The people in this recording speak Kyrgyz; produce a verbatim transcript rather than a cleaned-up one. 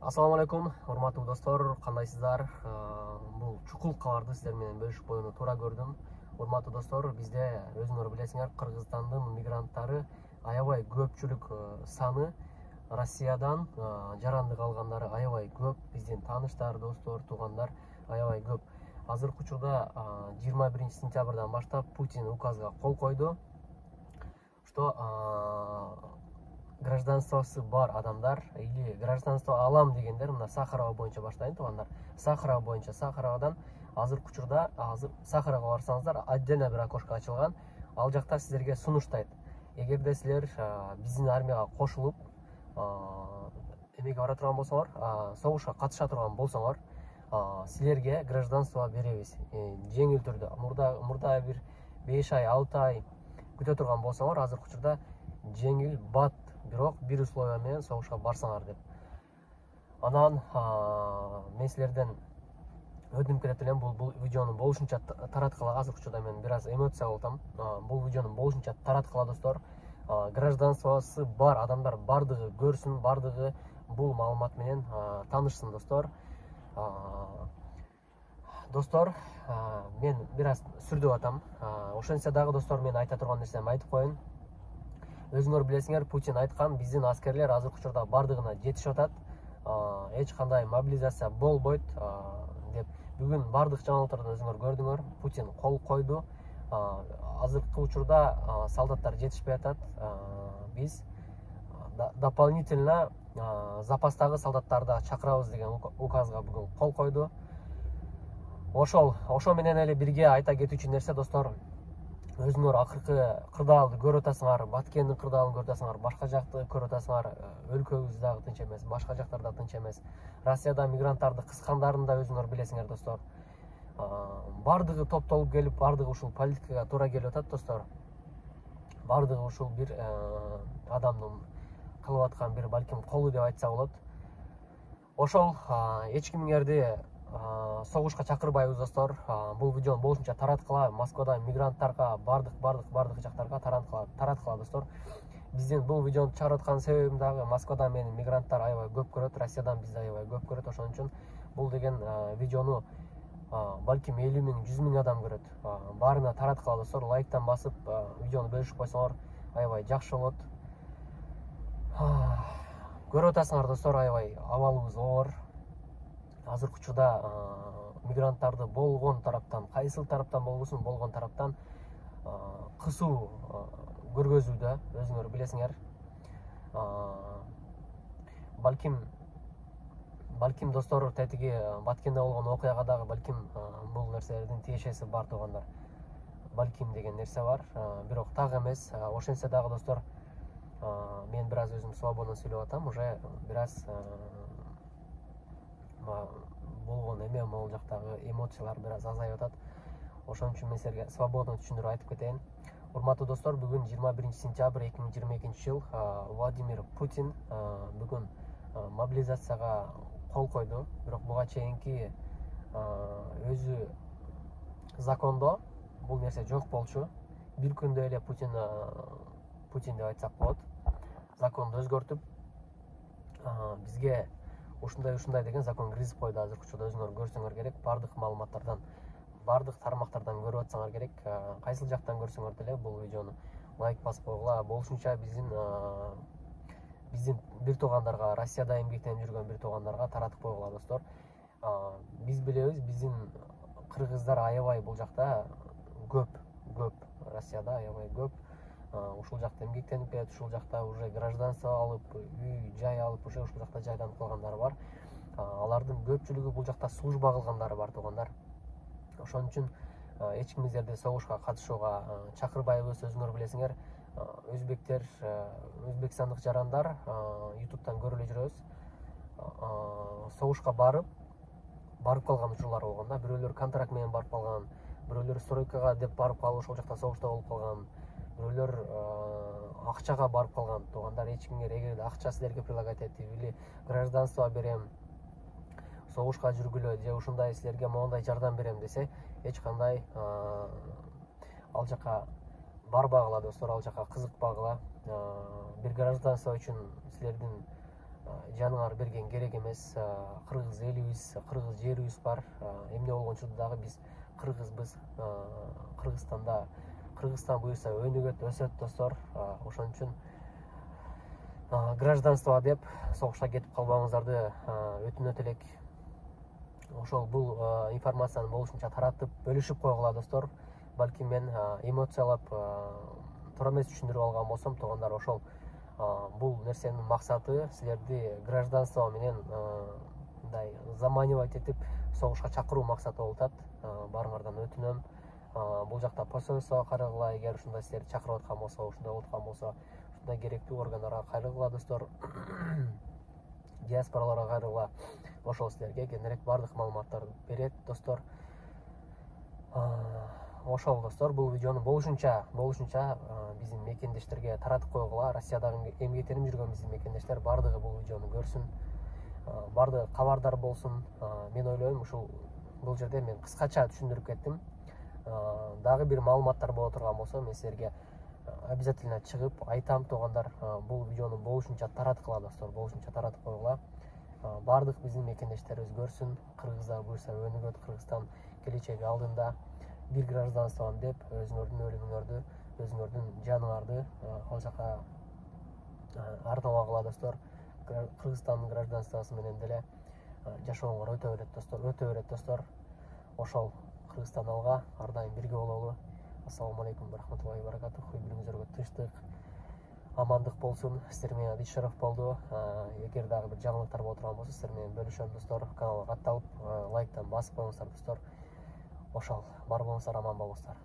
Assalamu alaikum, урматтуу достор, кандайсыздар? Бул чукул кабарды сиздер менен бөлүшүп коюуну туура көрдүм. Урматтуу достор, бизде өзүңөр билесиңер, Кыргызстандын мигранттары аябай көпчүлүк саны, Россиядан жарандык алгандары аябай көп, биздин тааныштар, достор, туугандар аябай көп. Азыркы учурда жыйырма биринчи сентябрдан баштап Путин указга кол койду, что гражданствосы бар адамдар или гражданство алам дегендер мына Сахарова боюнча баштайын туугандар. Сахарова боюнча Сахаровадан азыркы учурда азыр Сахаровага барсаңыздар, отдельно бир окошко ачылган. Ал жакта силерге сунуштайт. Эгерде силер биздин армияга кошулуп, эмеге бара турган болсоңор, согушка катыша турган болсоңор, силерге гражданство беребиз. Жеңил түрдө. Мурда мурда бир беш ай, алты ай күтө турган болсоңор, азыркы учурда жеңил бат, бирок бир условия менен согушка барсаңар деп. Анан мен силерден өтүнүп келет элем, бул видеону болушунча тараткыла. Азыркы учурда мен бир аз эмоция болтам. Бул видеону болушунча тараткыла достор. Гражданствосы бар адамдар бардыгы көрсүн, бардыгы бул маалымат менен таанышсын достор. Достор, мен бир аз сүрдөп атам. Ошентсе дагы достор, мен айта турган нерсемди айтып коеюн. Өзүңөр билесиңер, Путин айткан, биздин аскерлер азыркы учурда бардыгына жетишип атат. Эч кандай мобилизация болбойт деп. Бүгүн бардык жаңылыктардан өзүңөр көрдүңөр. Путин кол койду. Азыркы учурда солдаттар жетишпей атат. Биз дополнительно запастагы солдаттарды чакырабыз деген указга бүгүн кол койду. Ошол, ошо менен эле бирге айта кетүүчү нерсе достор, өзүңөр акыркы кырдаалды көрүп атасыңар, Баткендин кырдаалын көрүп атасыңар, башка жакты көрүп атасыңар. Өлкөбүз дагы тынч эмес, башка жактар да тынч эмес. Россияда мигранттарды кыскандарын да өзүңөр билесиңер достор. Бардыгы топтолуп келип, бардыгы ушул политикага туура келип атат достор. Бардыгы ушул бир адамдын кылып аткан бир балким колу деп айтса болот. Ошол эч кимиңерди согушка чакырбайбыз достор. Бул видеону болушунча тараткыла. Москвада мигранттарга бардык бардык бардык жактарга тараткыла, тараткыла достор. Биздин бул видеону чыгарып аткан себебим дагы Москвада мени мигранттар аябай көп көрөт, Россиядан бизди аябай көп көрөт. Ошон үчүн бул деген видеону балким элүү миң, жүз миң адам көрөт. Баарына тараткыла достор. Лайктан басып, видеону бөлүшүп койсоңор аябай жакшы болот. Көрүп атасыңар достор, аябай абалыбыз оор. Азыркы учурда мигранттарды болгон тараптан, кайсыл тараптан болбосун, болгон тараптан кысуу көргөзүүдө, өзүңөр билесиңер. Балким балким достор, тетиги Баткенде болгон окуяга дагы балким бул нерселердин тиешеси бар туугандар. Балким деген нерсе бар, бирок так эмес. Ошентсе дагы достор, мен бир аз өзүм свободно сүйлөп атам, уже бир аз болгон эме, могул жактагы эмоциялар бир аз азайып атат. Ошон үчүн мен силерге свободно түшүндүрүп айтып кетейин. Урматтуу достор, бүгүн жыйырма биринчи сентябрь эки миң жыйырма экинчи жыл. Владимир Путин бүгүн мобилизацияга кол койду. Бирок буга чейинки өзү закондо бул нерсе жок болчу. Бир күндө эле Путин Путин деп айтсак болот, законду өзгөртүп бизге ушундай ушундай деген закон киргизип койду. Азыркы учурда өзүңөр көрсөңөр керек, бардык маалыматтардан, бардык тармактардан көрүп атсаңар керек. Кайсыл жактан көрсөңөр деле бул видеону лайк басып койгула. Болушунча биздин биздин бир туугандарга, Россияда эмгектенип жүргөн бир туугандарга таратып койгула достор. Биз билебиз, биздин кыргыздар аябай бул жакта көп, көп. Россияда аябай көп. Ушул жакта эмгектенип келет, ушул жакта уже гражданство алып, үй жай алып, уже ушул жакта жайланып калгандары бар. Алардын көпчүлүгү бул жакта служба кылгандары бар туугандар. Ошон үчүн эч кимиңерди согушка катышууга чакырбайбыз. Өзүңөр билесиңер, өзбектер, өзбекстандык жарандар ютубтан көрүп эле жүрөбүз. Согушка барып, барып калган учурлар болгон да. Бирөөлөр контракт менен барып калган, бирөөлөр стройкага деп барып калып, ошол жакта согушта болуп калган. Бирөөлөр акчага барып калган туугандар. Эч кимге эгерде акча силерге предлагать этип или гражданство берем, согушка жүргүлө же ушундай силерге моундай жардам берем десе, эч кандай ал жака барбагыла достор, ал жака кызыкпагыла. Бир гражданство үчүн силердин жаныңар берген керек эмес. Кыргыз элибиз, кыргыз жерибиз бар. Эмне болгон учурда дагы биз кыргызбыз. Кыргызстанда Кыргызстан буюрса өнүгөт, өсөт достор. Ошон үчүн гражданство деп согушка кетип калбагыңыздарды өтүнөт элек. Ошол бул информацияны болушунча таратып, бөлүшүп койгула достор. Балким мен эмоциялап туура эмес түшүндүрүп алган болсом, туугандар, ошол бул нерсенин максаты силерди гражданство менен мындай заманивать этип согушка чакыруу максаты болуп атат. Баарыңардан өтүнөм. Бул жакта посольствого кайрыгыла, эгер ушундай силерди чакырып аткан болсо, ушундай болуп аткан болсо, ушундай керектүү органдарга кайрыгыла достор. Диаспораларга кайрыгыла. Ошол силерге кененирээк баардык маалыматтарды берет достор. Ошол достор, бул видеону болушунча болушунча биздин мекендештерге таратып койгула. Россиядагы эмгектенип жүргөн биздин мекендештер баардыгы бул видеону көрсүн, баардыгы кабардар болсун. Мен ойлойм, ушул бул жерде мен кыскача түшүндүрүп кеттим. Дагы бир маалыматтар боло турган болсо, мен силерге обязательно чыгып айтам, туугандар. Бул видеону болушунча тараткыла достор, болушунча таратып койгула. Баардык биздин мекендештерибиз көрсүн. Кыргыздар буюрса өнүгөт, Кыргызстан келечеги алдында. Бир гражданством деп өзүңөрдүн өлүмүңөрдү, өзүңөрдүн жаныңарды ал жака арнабагыла достор. Кыргызстандын гражданствосу менен деле жашооңор өтө берет достор, өтө берет достор. Ошол Кыргызстан алга, ар дайым бирге бололу. Ассаламу алейкум рахматуллахи ва баракатух. Бири-бирибизге тынчтык, амандык болсун. Сиздер менен Адис Шаров болду. Эгер дагы бир жаңылыктар боло турган болсо, сиздер менен бөлүшөм достор. Каналга катталып, лайктан басып коюңуздар достор. Ошол, бар болуңуздар, аман болуңуздар.